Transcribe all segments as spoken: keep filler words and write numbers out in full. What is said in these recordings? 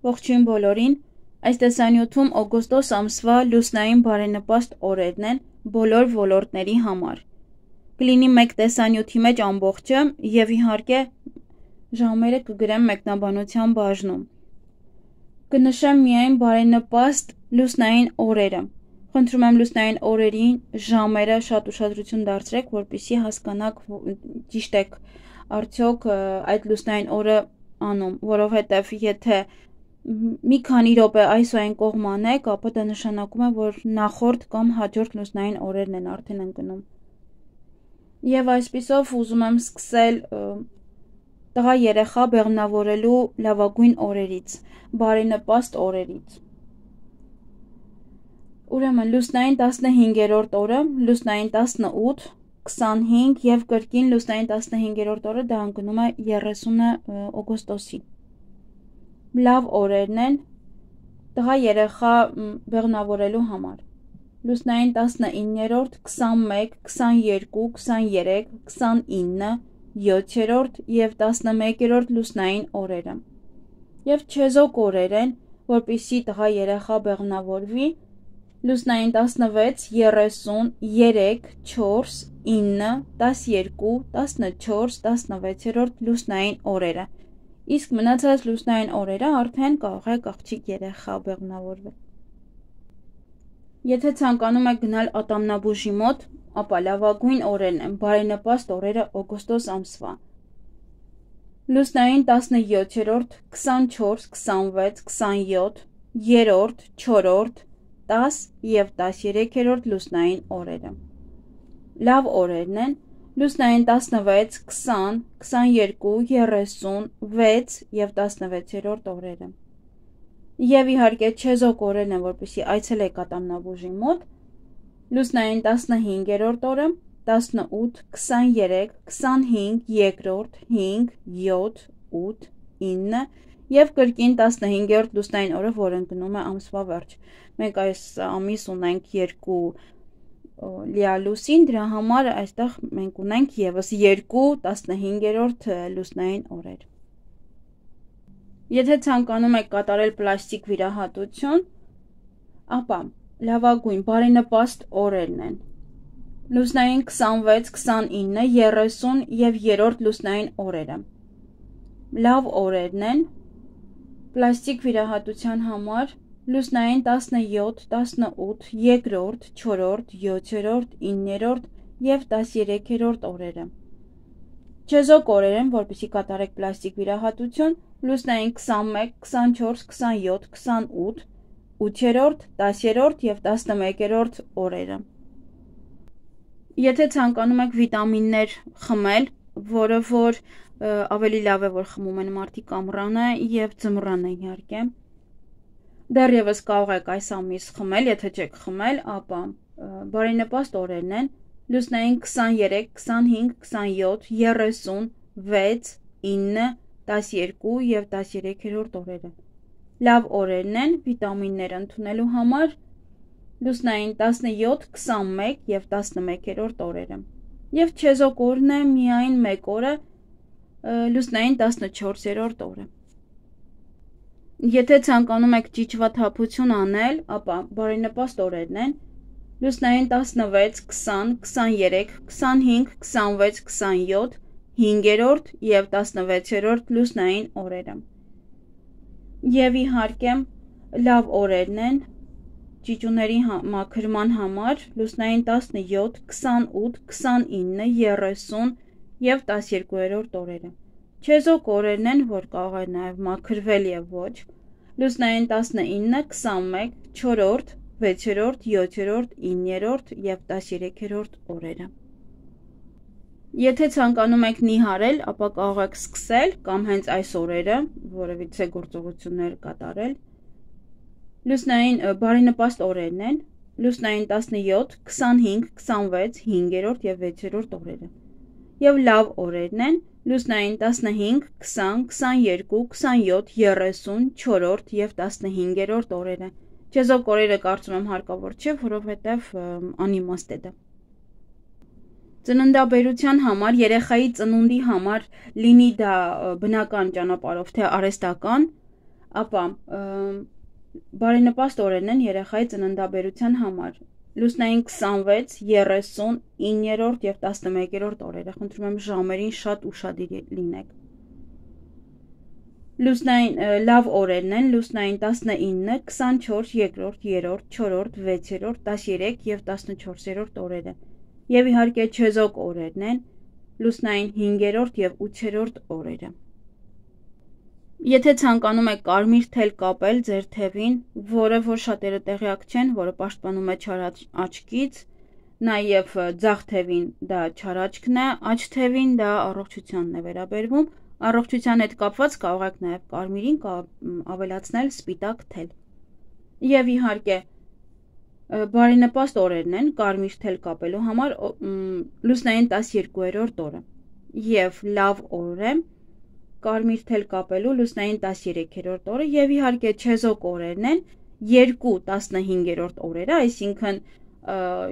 Ողջույն բոլորին, այս տեսանյութում օգոստոս ամսվա լուսնային բարենպաստ օրերն են բոլոր ոլորտների համար։ Կլինի մեկ տեսանյութի մեջ ամբողջը և իհարկե ժամերը կգրեմ մեկնաբանության բաժնում։ Կնշեմ միայն բարենպաստ լուսնային օրերը։ Խնդրում եմ լուսնային օրերին ժամերը շատ ուշադրություն դարձրեք, որպեսզի հասկանաք ճիշտ եք արդյոք այդ լուսնային օրը անում, որովհետև եթե մի քանի րոպե այս ու այն կողմ անեք, ապա դա նշանակում է, որ նախորդ կամ հաջորդ լուսնային օրերն են արդեն ընկնում։ Եվ այսպիսով ուզում եմ սկսել տղա երեխա բեղմնավորելու լավագույն օրերից, բարենպաստ օրերից։ Ուրեմն լուսնային տասնհինգերորդ օրը, լուսնային տասնութ, քսանհինգ և կրկին լուսնային տասնհինգերորդ օրը դա ընկնում է երեսունը օգոստոսի։ Լավ օրերն են տղա երեխա բեղմնավորելու համար։ Լուսնային տասնիններորդ, քսանմեկ, քսաներկու, քսաներեք, քսանինը, յոթերորդ և տասնմեկերորդ լուսնային օրերը։ Եվ չեզոք օրեր են, որպեսզի տղա երեխա բեղմնավորվի, լուսնային տասնվեց, երեսուն, երեք, չորս, ինը, տասներկու, տասնչորս, տասնվեցերորդ լուսնային օրերը։ Իսկ մնացած լուսնային օրերը արդեն կարող եք աղջիկ երեխա բեղմնավորվել։ Եթե ցանկանում եք գնալ ատամնաբուժի մոտ, ապա լավագույն օրերն են, բարենպաստ օրերը օգոստոս ամսվա։ Լուսնային տասնյոթերորդ, քսանչորս, քսանվեց, քսանյոթ, երրորդ, չորրորդ, տաս և տասներեքերորդ լուսնային օրերը։ Լավ օրերն են լուսնային տասնվեց, քսան, քսաներկու, երեսուն, վեց և տասնվեցերորդ օրերը։ Եվ իհարկե չեզոք օրերն են, որպեսզի այցելեք ատամնաբուժի մոտ, լուսնային տասնհինգերորդ օրը, տասնութ, քսաներեք, քսանհինգ, երկրորդ, հինգ, յոթ, ութ, ինը և կրկին տասնհինգերորդ լուսնային օրը, որ ընկնում է ամսվա վերջ։ Մենք այս ամիս ունենք երկու լիալուսին, դրա համար այստեղ մենք ունենք ևս երկու տասնհինգերորդ լուսնային օրեր։ Եթե ցանկանում եք կատարել պլաստիկ վիրահատություն, ապա լավագույն բարենպաստ օրերն են լուսնային քսանվեց, քսանինը, երեսուն և երրորդ լուսնային օրերը։ Լավ օրերն են պլաստիկ վիրահատության համար լուսնային տասնյոթ, տասնութ, երկրորդ, չորրորդ, յոթերորդ, իններորդ և տասներեքերորդ օրերը։ Չեզոք օրեր են, որպեսզի կատարեք պլաստիկ վիրահատություն, լուսնային քսանմեկ, քսանչորս, քսանյոթ, քսանութ, ութերորդ, տասերորդ և տասնմեկերորդ օրերը։ Եթե ցանկանում եք վիտամիններ խմել, որը որ ավելի լավ է, որ խմում են մարդիկ ամռանը և ձմռանը իհարկե, դեռևս կարող եք այս ամիս խմել, եթե չեք խմել, ապա բարենպաստ օրերն են լուսնային քսաներեք, քսանհինգ, քսանյոթ, երեսուն, վեց, ինը, տասներկու և տասներեքերորդ օրերը։ Լավ օրերն են վիտամիններ ընդունելու համար լուսնային տասնյոթ, քսանմեկ և տասնմեկերորդ օրերը։ Եվ չեզոք օրն է միայն մեկ օրը լուսնային տասնչորսերորդ օրը։ Եթե ցանկանում եք ճիճվաթափություն անել, ապա բարենպաստ օրերն են լուսնային տասնվեց, քսան, քսաներեք, քսանհինգ, քսանվեց, քսանյոթ, հինգերորդ և տասնվեցերորդ լուսնային օրերը։ Եվ իհարկե լավ օրերն են ճիճուների մաքրման համար լուսնային տասնյոթ, քսանութ, քսանինը, երեսուն և տասներկուերորդ օրերը։ Չեզոք օրերն են, որ կարող է նաև մաքրվել և ոչ, լուսնային տասնինը, քսանմեկ, չորրորդ, վեցերորդ, յոթերորդ, իններորդ և տասներեքերորդ օրերը։ Եթե ցանկանում եք նիհարել, ապա կարող եք սկսել կամ հենց այս օրերը որևիցե գործողություններ կատարել։ Լուսնային բարենպաստ օրերն են լուսնային տասնյոթ, քսանհինգ, քսանվեց, հինգերորդ և վեցերորդ օրերը։ Եվ լավ օրերն են լուսնային տասնհինգ, քսան, քսաներկու, քսանյոթ, երեսուն, չորրորդ և տասնհինգերորդ օրերը։ Չեզոք օրերը կարծում եմ հարկավոր չէ, որովհետև անիմաստ է դա։ Ծննդաբերության համար, երեխայի ծնունդի համար, լինի դա բնական ճանապարհով, թե արհեստական, ապա բարենպաստ օրերն են երեխայի ծննդաբերության համար։ Լուսնային քսանվեց, երեսուն, իններորդ և տասնմեկերորդ օրերը, խնդրում եմ ժամերին շատ ուշադիր լինեք։ Լուսնային լավ օրերն են, լուսնային տասնինը, քսանչորս, երկրորդ, երրորդ, չորրորդ, վեցերորդ, տասներեք և տասնչորսերորդ օրերը, և իհարկե չեզոք օրերն են, լուսնային հինգերորդ և ութերորդ օրերը։ Եթե ցանկանում եք կարմիր թել կապել ձեր թևին, որը որ շատերը տեղյակ չեն, որը պաշտպանում է չար աչքից, նաև ձախ թևին դա չար աչքն է, աջ թևին դա առողջությանն է վերաբերվում, առողջության հետ կապված կարող եք նաև կարմիրին ավելացնել սպիտակ թել։ Եվ իհարկե բարենպաստ օրերն են կարմիր թել կապելու համար լուսնային տասներկուերորդ օրը և լավ օր է կարմիր թել կապելու լուսնային տասներեքերորդ օրը և իհարկե չեզոք օրերն են երկու տասնհինգերորդ օրերը, այսինքն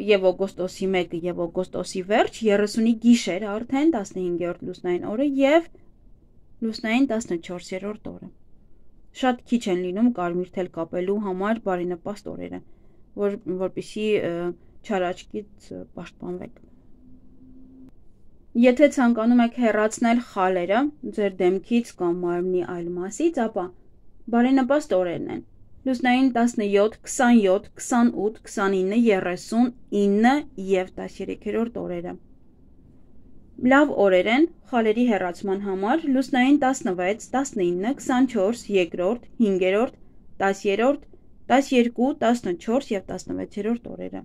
և օգոստոսի մեկը և օգոստոսի վերջ, երեսունի գիշեր արդեն տասնհինգերորդ լուսնային օրը և լուսնային տասնչորսերորդ օրը։ Շատ քիչ են լինում կարմիր թել կապելու համար բարենպաստ օրերը, որ, որպեսզի չար աչքից պաշտպանվեք։ Եթե ցանկանում եք հեռացնել խալերը ձեր դեմքից կամ մարմնի այլ մասից, ապա բարենպաստ օրերն են։ Լուսնային տասնյոթ, քսանյոթ, քսանութ, քսանինը, երեսուն, ինը և տասներեքերորդ օրերը։ Լավ օրեր են խալերի հեռացման համար լուսնային տասնվեց, տասնինը, քսանչորս, երկրորդ, հինգերորդ, տասերորդ, տասներկու, տասնչորս և տասնվեցերորդ օրերը։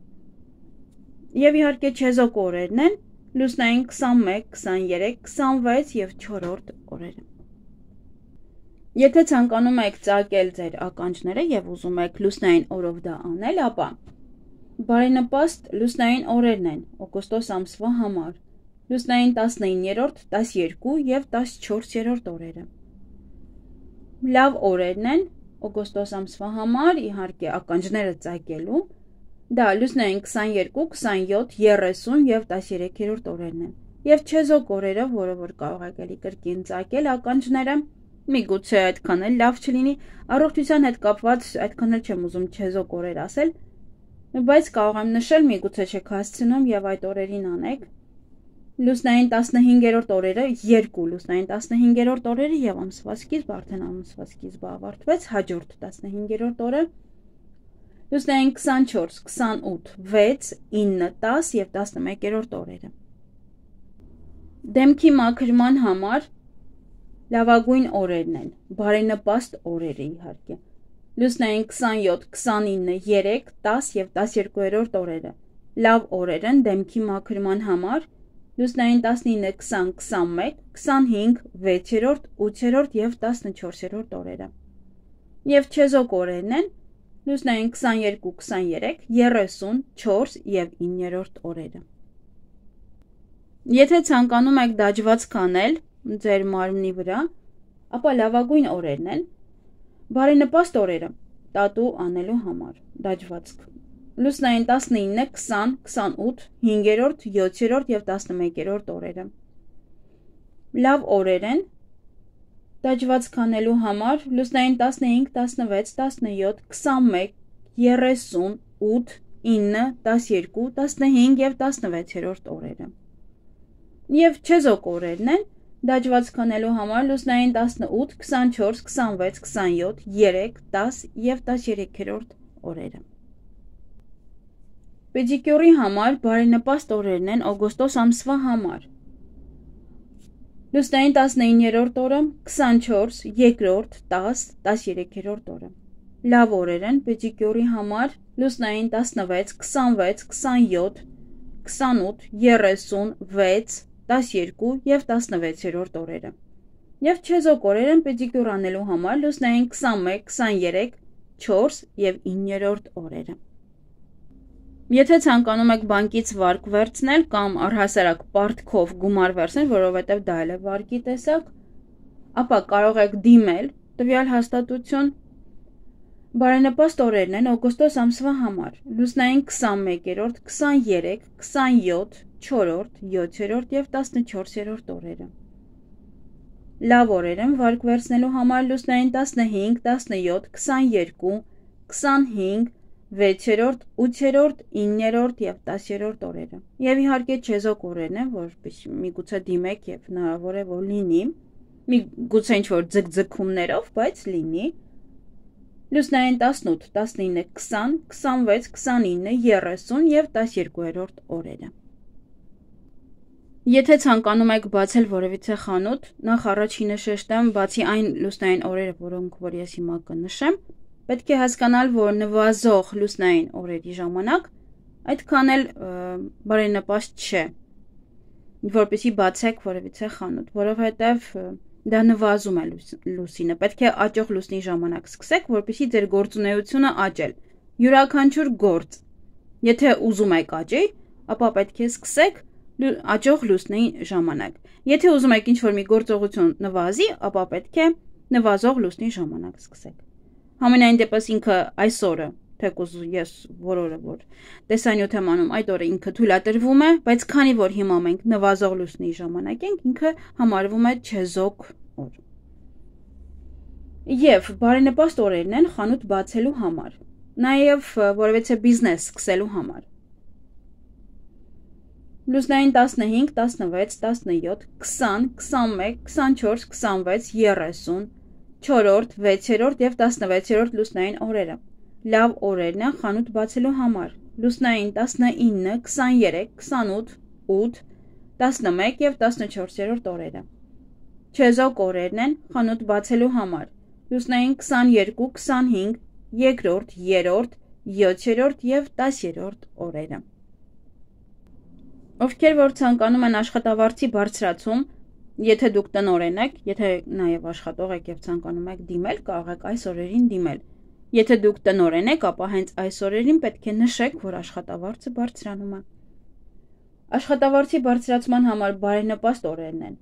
Եվ իհարկե չեզոք օրերն են լուսնային քսանմեկ, քսաներեք, քսանվեց և չորրորդ օրերը։ Եթե ցանկանում եք ծագել ձեր ականջները և ուզում եք լուսնային օրով դա անել, ապա բարենպաստ լուսնային օրերն են օգոստոս ամսվա համար լուսնային տասնիններորդ, տասներկու և տասչորսերորդ օրերը։ Լավ օրերն են օգոստոս ամսվա համար, իհարկե ականջները ծագելու, դա լուսնային քսաներկու, քսանյոթ, երեսուն և տասներեքերորդ օրերն են։ Եվ չեզոք օրերը, որը որ կարող եք էլի կրկին ծագել ականջները, միգուցե այդքան էլ լավ չլինի, առողջության հետ կապված այդքան էլ չեմ ուզում չեզոք օրեր ասել, բայց կարող եմ նշել, միգուցե չեք հասցնում և այդ օրերին անեք։ Լուսնային տասնհինգերորդ օրերը, երկու լուսնային տասնհինգերորդ օրերը և ամսվա սկիզբ, արդեն ամսվա սկիզբը ավարտվեց, հաջորդ տասնհինգերորդ օրը, լուսնային քսանչորս, քսանութ, վեց, ինը, տաս և տասնմեկերորդ օրերը։ Դեմքի մաքրման համար լավագույն օրերն են, բարենպաստ օրերը իհարկե։ Լուսնային քսանյոթ, քսանինը, երեք, տաս և տասներկուերորդ օրերը։ Լավ օրեր են դեմքի մաքրման համար լուսնային տասնինը, քսան, քսանմեկ, քսանհինգ, վեցերորդ, ութերորդ և տասնչորսերորդ օրերը։ Եվ չեզոք օրերն են լուսնային քսաներկու, քսաներեք, երեսուն, չորս և իններորդ օրերը։ Եթե ցանկանում եք դաջվածք անել ձեր մարմնի վրա, ապա լավագույն օրերն են բարենպաստ օրերը տատու անելու համար դաջվածք։ Լուսնային տասնինը, քսան, քսանութ, հինգերորդ, յոթերորդ և տասնմեկերորդ օրերը։ Լավ օրեր են դաջվածք անելու համար լուսնային տասնհինգ, տասնվեց, տասնյոթ, քսանմեկ, երեսուն, ութ, ինը, տասներկու, տասնհինգ և տասնվեցերորդ օրերը։ Եվ չեզոք օրերն են դաջվածք անելու համար լուսնային տասնութ, քսանչորս, քսանվեց, քսանյոթ, երեք, տաս և տասներեքերորդ օրերը։ Պեդիկյուրի համար բարենպաստ օրերն են օգոստոս ամսվա համար լուսնային տասնիններորդ օրը, քսանչորս, երկրորդ, տաս, տասներեքերորդ օրը։ Լավ օրեր են պեդիկյուրի համար լուսնային տասնվեց, քսանվեց, քսանյոթ, քսանութ, երեսուն, վեց, տասներկու և տասնվեցերորդ օրերը։ Եվ չեզոք օրեր են պեդիկյուր անելու համար լուսնային քսանմեկ, քսաներեք, չորս և իններորդ օրերը։ Եթե ցանկանում եք բանկից վարկ վերցնել կամ առհասարակ պարտքով գումար վերցնել, որովհետև դա էլ է վարկի տեսակ, ապա կարող եք դիմել տվյալ հաստատություն։ Բարենպաստ օրերն են օգոստոս ամսվա համար լուսնային քսանմեկերորդ, քսաներեք, քսանյոթ, չորրորդ, յոթերորդ և տասնչորսերորդ օրերը։ Լավ օրեր են վարկ վերցնելու համար լուսնային տասնհինգ, տասնյոթ, քսաներկու, քսանհինգ, վեցերորդ, ութերորդ, իններորդ և տասերորդ օրերը։ Եվ իհարկե չեզոք օրերն են, որ միգուցե դիմեք և հնարավոր է որ լինի, միգուցե ինչ-որ ձգձգումներով, բայց լինի։ Լուսնային տասնութ, տասնինը, քսան, քսանվեց, քսանինը, երեսուն և տասներկուերորդ օրերը։ Եթե ցանկանում եք բացել որևիցե խանութ, նախ առաջինը շեշտեմ, բացի այն լուսնային օրերը, որոնք որ ես հիմա կնշեմ, պետք է հասկանալ, որ նվազող լուսնային օրերի ժամանակ այդքան էլ բարենպաստ չէ, որպեսզի բացեք որևիցե խանութ, որովհետև դա նվազում է լուսինը, պետք է աճող լուսնի ժամանակ սկսեք, որպեսզի ձեր գործունեությունը աճել, յուրաքանչյուր գործ, եթե ուզում եք աճի, ապա պետք է սկսեք աճող լուսնի ժամանակ, եթե ուզում եք ինչ-որ մի գործողություն նվազի, ապա պետք է նվազող լուսնի ժամանակ սկսեք։ Համենայն դեպս ինքը այս օրը, թեկուզ ես որորը որ տեսանյութ եմ անում, այդ օրը ինքը թույլատրվում է, բայց քանի որ հիմա մենք նվազող լուսնի ժամանակ ենք, ինքը համարվում է չեզոք օր։ Եվ բարենպաստ օրերն են խանութ բացելու համար, նաև որևիցե բիզնես սկսելու համար։ Լուսնային տասնհինգ, տասնվեց, տասնյոթ, քսան, քսանմեկ, քսանչորս, քսանվեց, երեսուն, չորրորդ, վեցերորդ և տասնվեցերորդ լուսնային օրերը։ Լավ օրերն են խանութ բացելու համար։ Լուսնային տասնինը, քսաներեք, քսանութ, ութ, տասնմեկ և տասնչորսերորդ օրերը։ Չեզոք օրերն են խանութ բացելու համար։ Լուսնային քսաներկու, քսանհինգ, երկրորդ, երրորդ, յոթերորդ և տասերորդ օրերը։ Ովքեր որ ցանկանում են աշխատավարձի բարձրացում, եթե դուք տնօրեն եք, եթե նաև աշխատող եք և ցանկանում եք դիմել, կարող եք այս օրերին դիմել։ Եթե դուք տնօրեն եք, ապա հենց այս օրերին պետք է նշեք, որ աշխատավարձը բարձրանում է։ Աշխատավարձի բարձրացման համար բարենպաստ օրերն են։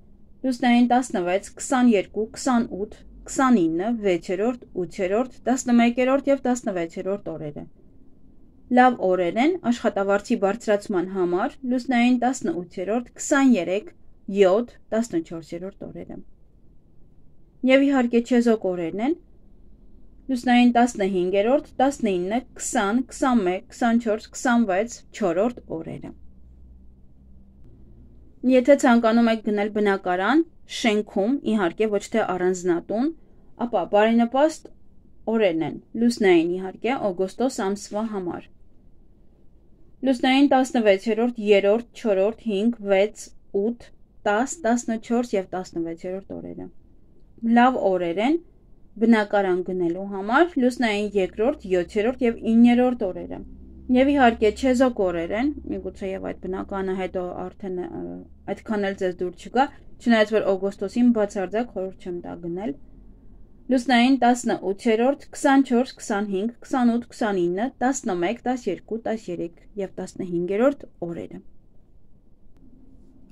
Լուսնային տասնվեց, քսաներկու, քսանութ, քսանինը, վեցերորդ, ութերորդ, տասնմեկերորդ և տասնվեցերորդ օրերը։ Լավ օրեր են աշխատավարձի բարձրացման համար լուսնային տասնութերորդ, քսաներեք, յոթ, տասնչորսերորդ օրերը։ Եվ իհարկե չեզոք օրերն են լուսնային տասնհինգերորդ, տասնինը, քսան, քսանմեկ, քսանչորս, քսանվեց, չորրորդ օրերը։ Եթե ցանկանում եք գնել բնակարան, շենքում, իհարկե ոչ թե առանձնատուն, ապա բարենպաստ օրերն են լուսնային իհարկե օգոստոս ամսվա համար։ Լուսնային տասնվեցերորդ, երրորդ, չորրորդ, հինգ, վեց, ութ, տաս, տասնչորս և տասնվեցերորդ օրերը։ Լավ օրեր են բնակարան գնելու համար լուսնային երկրորդ, յոթերորդ և իններորդ օրերը։ Եվ իհարկե չեզոք օրեր են, միգուցե և այդ բնականը հետո արդեն այդքան էլ ձեզ դուր չգա, չնայած որ օգոստոսին բացարձակ խորհուրդ չեմ տա գնել։ Լուսնային տասնութերորդ, քսանչորս, քսանհինգ, քսանութ, քսանինը, տասնմեկ, տասներկու, տասներեք և տասնհինգերորդ օրերը։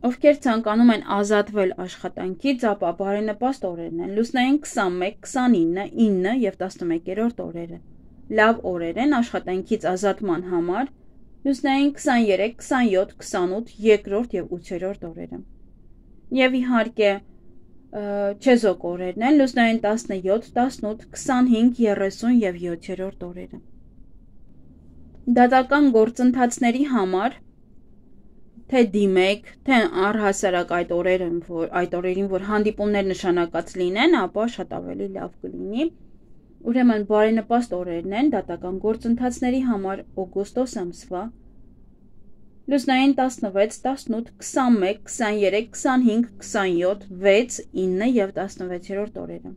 Ովքեր ցանկանում են ազատվել աշխատանքից, ապա բարենպաստ օրերն են լուսնային քսանմեկ, քսանինը, ինը և տասնմեկերորդ օրերը։ Լավ օրեր են աշխատանքից ազատման համար լուսնային քսաներեք, քսանյոթ, քսանութ, երկրորդ և ութերորդ օրերը։ Եվ իհարկե չեզոք օրերն են լուսնային տասնյոթ, տասնութ, քսանհինգ, երեսուն և յոթերորդ օրերը։ Դատական գործընթացների համար թե դիմեք, թե առհասարակ այդ օրերին, որ այդ օրերին, որ հանդիպումներ նշանակած լինեն, ապա շատ ավելի լավ կլինի։ Ուրեմն բարենպաստ օրերն են դատական գործընթացների համար օգոստոս ամսվա լուսնային տասնվեց, տասնութ, քսանմեկ, քսաներեք, քսանհինգ, քսանյոթ, վեց, ինը և տասնվեցերորդ օրերը։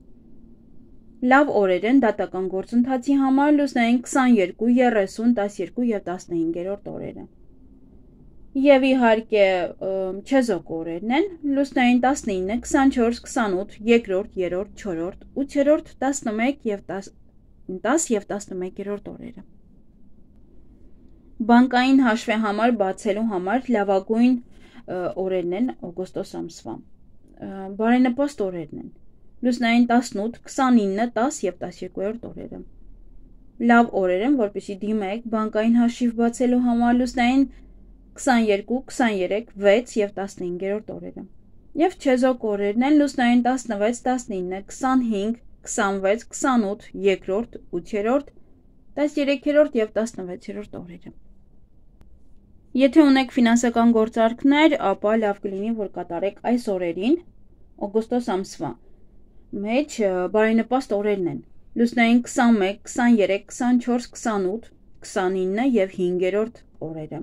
Լավ օրեր են դատական գործընթացի համար լուսնային քսաներկու, երեսուն, տասներկու և տասնհինգերորդ օրերը։ Եվ իհարկե չեզոք օրերն են լուսնային տասնինը, քսանչորս, քսանութ, երկրորդ, երրորդ, չորրորդ, ութերորդ, տասնմեկ և տաս և տասնմեկերորդ օրերը։ Բանկային հաշվի համար բացելու համար լավագույն օրերն են օգոստոս ամսվա։ Բարենպաստ օրերն են լուսնային տասնութ, քսանինը, տաս և տասներկուերորդ օրերը։ Լավ օրեր են, որպեսզի դիմեք բանկային հաշիվ բացելու համար լուսնային քսաներկու, քսաներեք, վեց և տասնհինգերորդ օրերը։ Եվ չեզոք օրերն են լուսնային տասնվեց, տասնինը, քսանհինգ, քսանվեց, քսանութ, երկրորդ, ութերորդ, տասներեքերորդ և տասնվեցերորդ օրերը։ Եթե ունեք ֆինանսական գործարքներ, ապա լավ կլինի, որ կատարեք այս օրերին, օգոստոս ամսվա մեջ բարենպաստ օրերն են։ Լուսնային քսանմեկ, քսաներեք, քսանչորս, քսանութ, քսանինը և հինգերորդ օրերը։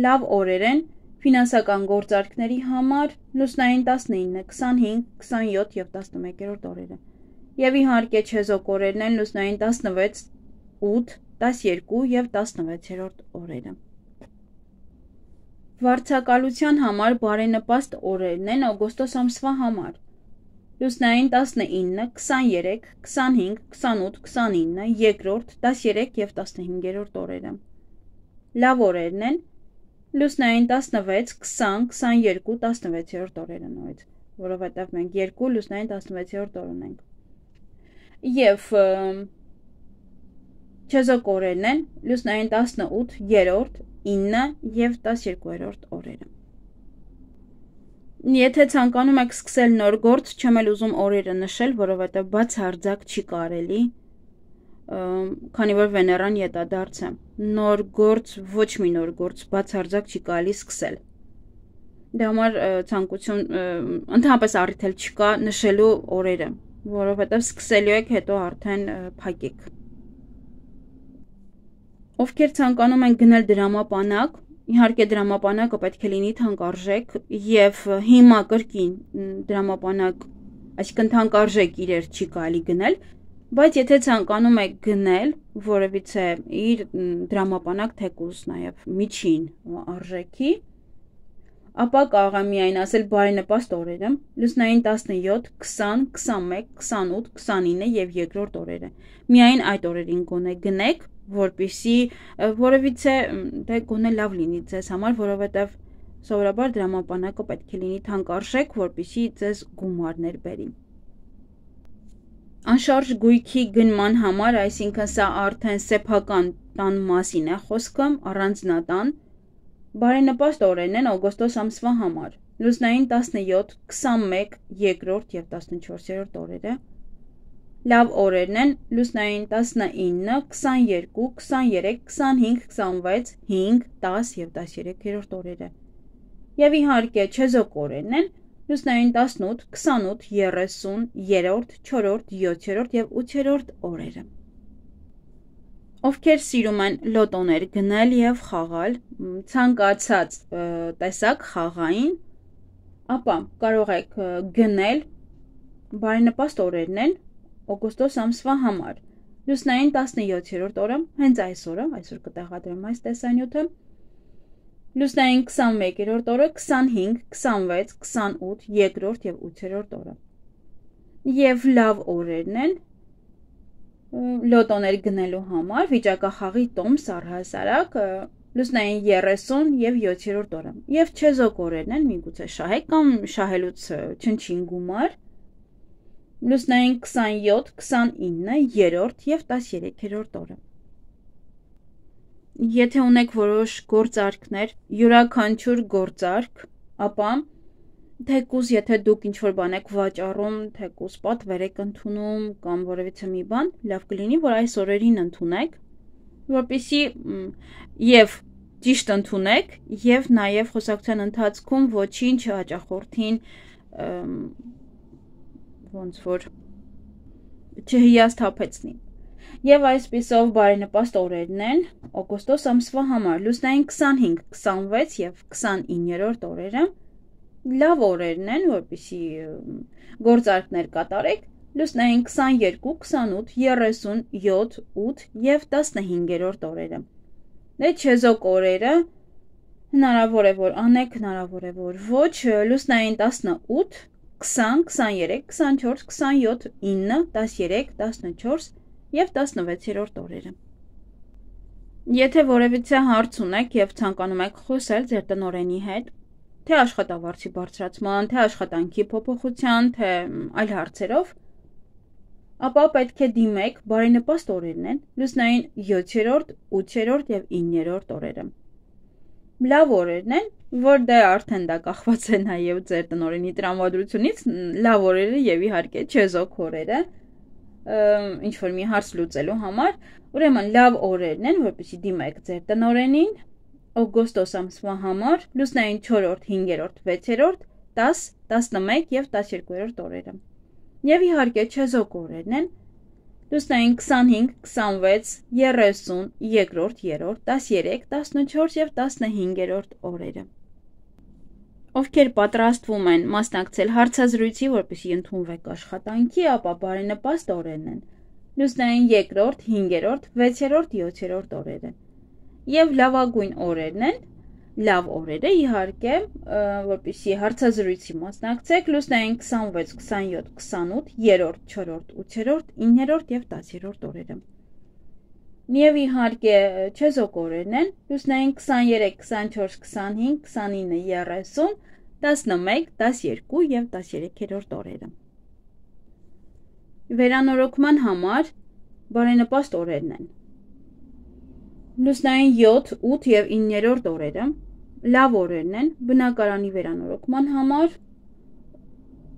Լավ օրեր են ֆինանսական գործարքների համար լուսնային տասնինը, քսանհինգ, քսանյոթ և տասնմեկերորդ օրերը։ Եվ իհարկե չեզոք օրերն են լուսնային տասնվեց, ութ, տասներկու և տասնվեցերորդ օրերը։ Վարձակալության համար բարենպաստ օրերն են օգոստոս ամսվա համար։ Լուսնային տասնինը, քսաներեք, քսանհինգ, քսանութ, քսանինը, երկրորդ, տասներեք և տասնհինգերորդ օրերը։ Լավ օրերն են լուսնային տասնվեց, քսան, քսաներկու, տասնվեցերորդ օրերը նույնից, որովհետև մենք երկու լուսնային տասնվեցերորդ օր ունենք։ Եվ չեզոք օրերն են լուսնային տասնութ, երրորդ, ինը և տասներկուերորդ օրերը։ Եթե ցանկանում եք սկսել նոր գործ, չեմ էլ ուզում օրերը նշել, որովհետև բացարձակ չի կարելի, քանի որ Վեներան ետադարձ է։ Նոր գործ, ոչ մի նոր գործ բացարձակ չի կարելի սկսել։ Դրա համար ցանկություն, ընդհանրապես առիթ էլ չկա նշելու օրերը, որովհետև սկսելու եք, հետո արդեն փակեք։ Ովքեր ցանկանում են գնել դրամապանակ, իհարկե դրամապանակը պետք է լինի թանկարժեք և հիմա կրկին դրամապանակ, այսինքն թանկարժեք իրեր չի կարելի գնել, բայց եթե ցանկանում եք գնել որևիցե իր դրամապանակ թեկուզ նաև միջին արժեքի, ապա կարող եմ միայն ասել բարենպաստ օրերը, լուսնային տասնյոթ, քսան, քսանմեկ, քսանութ, քսանինը և երկրորդ օրերը։ Միայն այդ օրերին գոնե գնեք, որպեսզի որևիցե դե գոնե լավ լինի ձեզ համար, որովհետև սովորաբար դրամապանակը պետք է լինի թանկարժեք, որպեսզի ձեզ գումարներ բերի։ Անշարժ գույքի գնման համար, այսինքն սա արդեն սեփական տան մասին է խոսքը, առանձնատան, բարենպաստ օրերն են օգոստոս ամսվա համար։ Լուսնային տասնյոթ, քսանմեկ, երկրորդ և տասնչորսերորդ օրերը։ Լավ օրերն են լուսնային տասնինը, քսաներկու, քսաներեք, քսանհինգ, քսանվեց, հինգ, տաս և տասներեքերորդ օրերը։ Եվ իհարկե չեզոք օրերն են լուսնային տասնութ, քսանութ, երեսուն, երրորդ, չորրորդ, յոթերորդ և ութերորդ օրերը։ Ովքեր սիրում են լոտոներ գնել և խաղալ, ցանկացած տեսակ խաղային, ապա կարող եք գնել, բարենպաստ օրերն են օգոստոս ամսվա համար։ Լուսնային տասնյոթերորդ օրը, հենց այս օրը, այսօր կտեղադրեմ այս տեսանյութը, լուսնային քսանմեկերորդ օրը, քսանհինգ, քսանվեց, քսանութ, երկրորդ և ութերորդ օրը։ Եվ լավ օրերն են լոտոներ գնելու համար, վիճակախաղի տոմս առհասարակ, լուսնային երեսուն և յոթերորդ օրը։ Եվ չեզոք օրերն են, միգուցե շահեք կամ շահելուց չնչին գումար, լուսնային քսանյոթ, քսանինը, երրորդ և տասներեքերորդ օրը։ Եթե ունեք որոշ գործարքներ, յուրաքանչյուր գործարք, ապա թեկուզ եթե դուք ինչ-որ բան եք վաճառում, թեկուզ պատվեր եք ընդունում կամ որևիցե մի բան, լավ կլինի, որ այս օրերին ընդունեք, որպեսզի և ճիշտ ընդունեք և նաև խոսակցության ընթացքում ոչինչ հաճախորդին ոնց որ չհիասթափեցնի։ Եվ այսպիսով բարենպաստ օրերն են օգոստոս ամսվա համար, լուսնային քսանհինգ, քսանվեց և քսանիններորդ օրերը, լավ օրերն են, որպեսզի գործարքներ կատարեք, լուսնային քսաներկու, քսանութ, երեսուն, յոթ, ութ և տասնհինգերորդ օրերը։ Դե չեզոք օրերը հնարավոր է, որ անեք, հնարավոր է, որ ոչ, լուսնային տասնութ, քսան, քսաներեք, քսանչորս, քսանյոթ, ինը, տասներեք, տասնչորս և տասնվեցերորդ օրերը։ Եթե որևիցե հարց ունեք և ցանկանում եք խոսել ձեր տնօրենի հետ, թե աշխատավարձի բարձրացման, թե աշխատանքի փոփոխության, թե այլ հարցերով, ապա պետք է դիմեք, բարենպաստ օրերն են լուսնային յոթերորդ, ութերորդ և իններորդ օրերը։ լավ օրերն են, որ դե արդեն դա կախված է նաև ձեր տնօրենի տրամադրությունից, լավ օրերը եւ իհարկե չեզոք օրերը, ինչ որ մի հարց լուծելու համար, ուրեմն լավ օրերն են, որպեսզի դիմեք ձեր տնօրենին, օգոստոս ամսվա համար, լուսնային չորրորդ, հինգերորդ, վեցերորդ, դաս, տասնմեկ եւ տասներկուերորդ օրերը։ Եվ իհարկե չեզոք օրերն են, լուսնային քսանհինգ, քսանվեց, երեսուն, երկրորդ, երրորդ, տասներեք, տասնչորս եւ տասնհինգերորդ օրերը։ Ովքեր պատրաստվում են մասնակցել հարցազրույցի, որպեսզի ընդունվեք աշխատանքի, ապա բարենպաստ օրերն են, լուսնային երկրորդ, հինգերորդ, վեցերորդ, յոթերորդ օրերը։ Եվ լավագույն օրերն են, լավ օրերը իհարկե, որպեսզի հարցազրույցի մասնակցեք, լուսնային քսանվեց, քսանյոթ, քսանութ, երրորդ, չորրորդ, ութերորդ, իններորդ եւ տասերորդ օրերը։ Եվ իհարկե չեզոք օրերն են, լուսնային քսաներեք, քսանչորս, քսանհինգ, քսանինը, երեսուն, տասնմեկ, տասներկու եւ տասներեքերորդ օրերը։ Վերանորոգման համար բարենպաստ օրերն են, լուսնային յոթ, ութ եւ իններորդ օրերը, լավ օրերն են, բնակարանի վերանորոգման համար,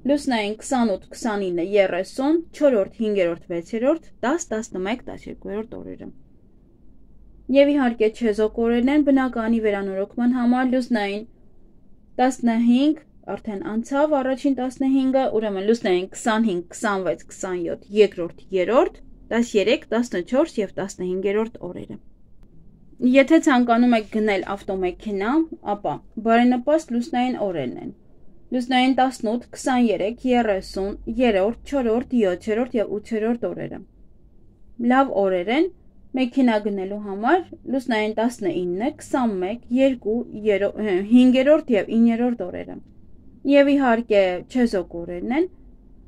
լուսնային քսանութ, քսանինը, երեսուն, չորրորդ, հինգերորդ, վեցերորդ, տաս, տասնմեկ, տասներկուերորդ օրերը։ Եվ իհարկե չեզոք օրերն են, բնակարանի վերանորոգման համար, լուսնային տասնհինգ, արդեն անցավ առաջին տասնհինգը, ուրեմն լուսնային քսանհինգ, քսանվեց, քսանյոթ, երկրորդ, երրորդ, տասներեք, տասնչորս եւ տասնհինգերորդ օրերը։ Եթե ցանկանում եք գնել ավտոմեքենա, ապա բարենպաստ լուսնային օրերն են, լուսնային տասնութ, քսաներեք, երեսուն, երրորդ, չորրորդ, յոթերորդ եւ ութերորդ օրերը։ Լավ օրեր են մեքենա գնելու համար, լուսնային տասնինը, քսանմեկ, երկու, հինգերորդ եւ իններորդ օրերը։ Եվ իհարկե չեզոք օրերն են,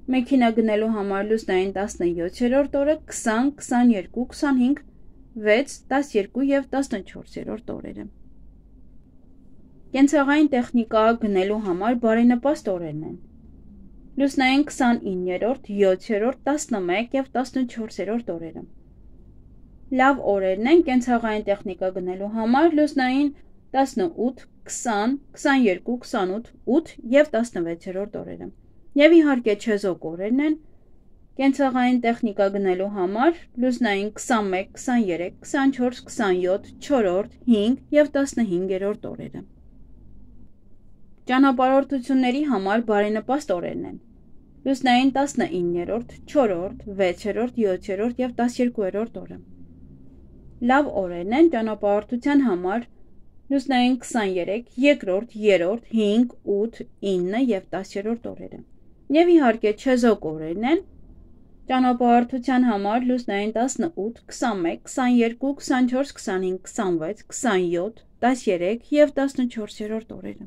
մեքենա գնելու համար լուսնային տասնյոթերորդ օրը, քսան, քսաներկու, քսանհինգ, վեց, տասներկու եւ տասնչորսերորդ օրերը։ Կենցաղային տեխնիկա գնելու համար բարենպաստ օրերն են, լուսնային քսանիններորդ, յոթերորդ, տասնմեկ եւ տասնչորսերորդ օրերը։ Լավ օրերն են կենցաղային տեխնիկա գնելու համար, լուսնային տասնութ, քսան, քսաներկու, քսանութ, ութ եւ տասնվեցերորդ օրերը։ Եվ իհարկե չեզոք օրերն են կենցաղային տեխնիկա գնելու համար, լուսնային քսանմեկ, քսաներեք, քսանչորս, քսանյոթ, չորրորդ, հինգ եւ տասնհինգերորդ օրերը։ Ճանապարհորդությունների համար բարենպաստ օրերն են, լուսնային տասնիններորդ, չորրորդ, վեցերորդ, յոթերորդ եւ տասներկուերորդ օրը։ Լավ օրերն են ճանապարհորդության համար, լուսնային քսաներեք, երկրորդ, երրորդ, հինգ, ութ, ինը եւ տասներորդ օրերը։ Եվ իհարկե չեզոք օրերն են ճանապարհորդության համար, լուսնային տասնութ, քսանմեկ, քսաներկու, քսանչորս, քսանհինգ, քսանվեց, քսանյոթ, տասներեք եւ տասնչորսերորդ օրերը։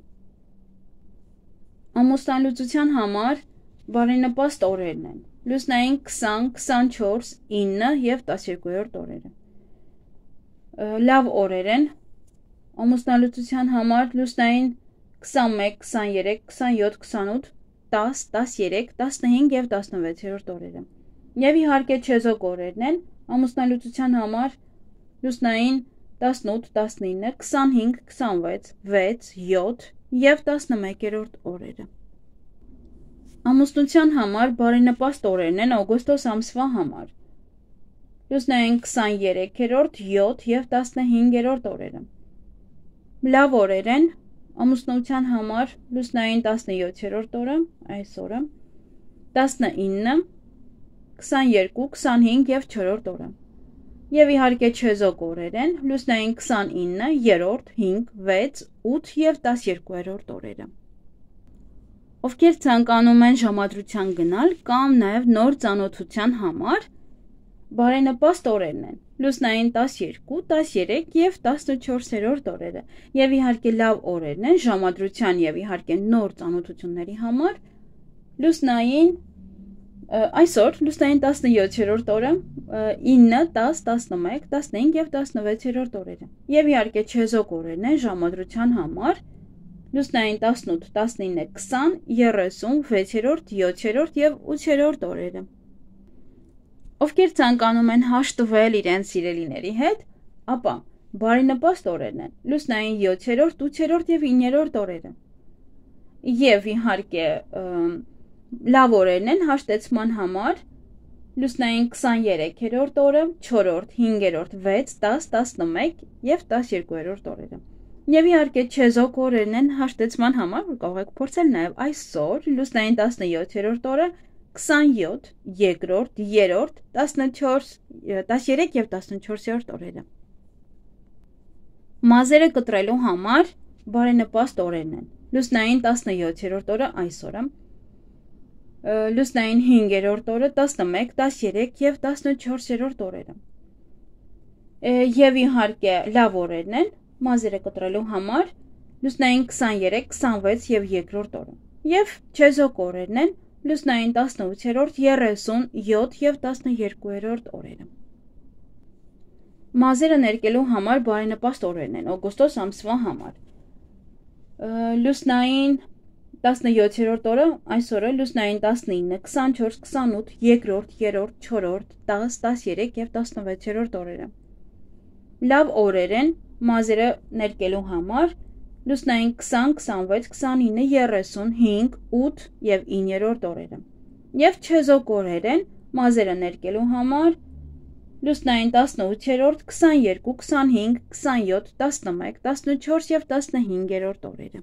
Ամուսնալուծության համար բարենպաստ օրերն են, լուսնային քսան, քսանչորս, ինը եւ տասներկուերորդ օրերը։ Լավ օրեր են ամուսնալուծության համար, լուսնային քսանմեկ, քսաներեք, քսանյոթ, քսանութ, տաս, տասներեք, տասնհինգ եւ տասնվեցերորդ օրերը։ Եվ իհարկե չեզոք օրերն են ամուսնալուծության համար, լուսնային տասնութ, տասնինը, քսանհինգ, քսանվեց, վեց, յոթ եւ տասնմեկերորդ օրերը։ Ամուսնության համար բարենպաստ օրերն են օգոստոս ամսվա համար, լուսնային քսաներեքերորդ, յոթ եւ տասնհինգերորդ օրերը։ Լավ օրեր են ամուսնության համար, լուսնային տասնյոթերորդ օրը, այս օրը, տասնինը, քսաներկու, քսանհինգ եւ չորրորդ օրը։ Եվ իհարկե չեզոք օրեր են, լուսնային քսանինը, երրորդ, հինգ, վեց, ութ եւ տասներկուերորդ օրերը։ Ովքեր ցանկանում են ժամադրության գնալ կամ նաեւ նոր ծանոթության համար, բարենպաստ օրերն են, լուսնային տասներկու, տասներեք եւ տասնչորսերորդ օրերը։ Եվ իհարկե լավ օրերն են ժամադրության եւ իհարկե նոր ծանոթությունների համար, լուսնային այսօր լուսնային տասնյոթերորդ օրը, ինը, տաս, տասնմեկ, տասնհինգ եւ տասնվեցերորդ օրերը։ Եվ իհարկե չեզոք օրերն են ժամադրության համար, լուսնային տասնութ, տասնինը, քսան, երեսուն, վեցերորդ, յոթերորդ եւ ութերորդ օրերը։ Ովքեր ցանկանում են հաշտվել իրենց սիրելիների հետ, ապա բարենպաստ օրերն են, լուսնային յոթերորդ, ութերորդ և իններորդ օրերը։ Եվ իհարկե լավ օրերն են հաշտեցման համար, լուսնային քսաներեքերորդ օրը, չորրորդ, հինգերորդ, վեց, տաս, տասնմեկ և տասներկուերորդ օրերը։ Եվ իհարկե չեզոք օրերն են հաշտեցման համար, որ կարող եք փորձել նաև այսօր, լուսնային տասնյոթերորդ օրը, քսանյոթ, երկրորդ, երրորդ, տասնչորս, տասներեք և տասնչորսերորդ օրերը։ Մազերը կտրելու համար բարենպաստ օրերն են, լուսնային տասնյոթերորդ օրը այսօրը, լուսնային հինգերորդ օրը, տասնմեկ, տասներեք և տասնչորսերորդ օրերը։ Եվ իհարկե լավ օրերն են մազերը կտրելու համար, լուսնային քսաներեք, քսանվեց և երկրորդ օրը։ Եվ չեզոք օրերն են լուսնային տասնութերորդ, երեսուն, յոթ և տասներկուերորդ օրերը։ Մազերը ներկելու համար բարենպաստ օրերն են օգոստոս ամսվա համար։ Լուսնային տասնյոթերորդ օրը այսօրը, լուսնային տասնինը, քսանչորս, քսանութ, երկրորդ, երրորդ, չորրորդ, տաս, տասներեք և տասնվեցերորդ օրերը։ Լավ օրեր են մազերը ներկելու համար, լուսնային քսան, քսանվեց, քսանինը, երեսուն, հինգ, ութ և իններորդ օրերը։ Եվ չեզոք օրեր են մազերը ներկելու համար, լուսնային տասնութերորդ, քսաներկու, քսանհինգ, քսանյոթ, տասնմեկ, տասնչորս և տասնհինգերորդ օրերը։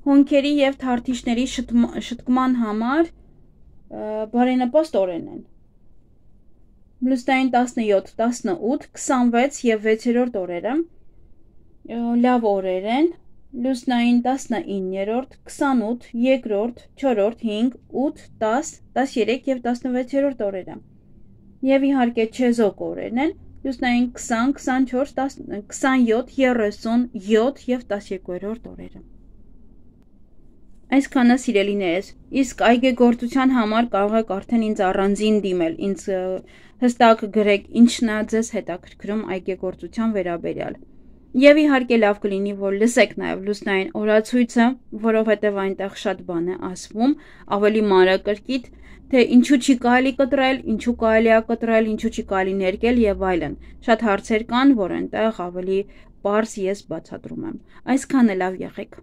Հոնքերի և թարթիչների շտկման համար բարենպաստ օրերն են, լուսնային տասնյոթ, տասնութ, քսանվեց և վեցերորդ օրերը, լավ օրեր են, լուսնային տասնիններորդ, քսանութ, երկրորդ, չորրորդ, հինգ, ութ, տաս, տասներեք և տասնվեցերորդ օրերը։ Եվ իհարկե չեզոք օրերն են, լուսնային քսան, քսանչորս, քսանյոթ, երեսուն, յոթ և տասներկուերորդ օրերը։ Այսքանը սիրելիներս, իսկ այգեգործության համար կարող եք արդեն ինձ առանձին դիմել, ինձ հստակ գրեք ինչն է ձեզ հետաքրքրում այգեգործության վերաբերյալ։ Եվ իհարկե լավ կլինի, որ լսեք նաև լուսնային օրացույցը, որովհետև այնտեղ շատ բան է ասվում, ավելի մանրակրկիտ, թե ինչու չի կարելի կտրել, ինչու կարելի է կտրել, ինչու չի կարելի ներկել եւ այլն։ Շատ հարցեր կան, որ այնտեղ ավելի պարզ ես բացատրում եմ։ Այսքանը լավ եղեք։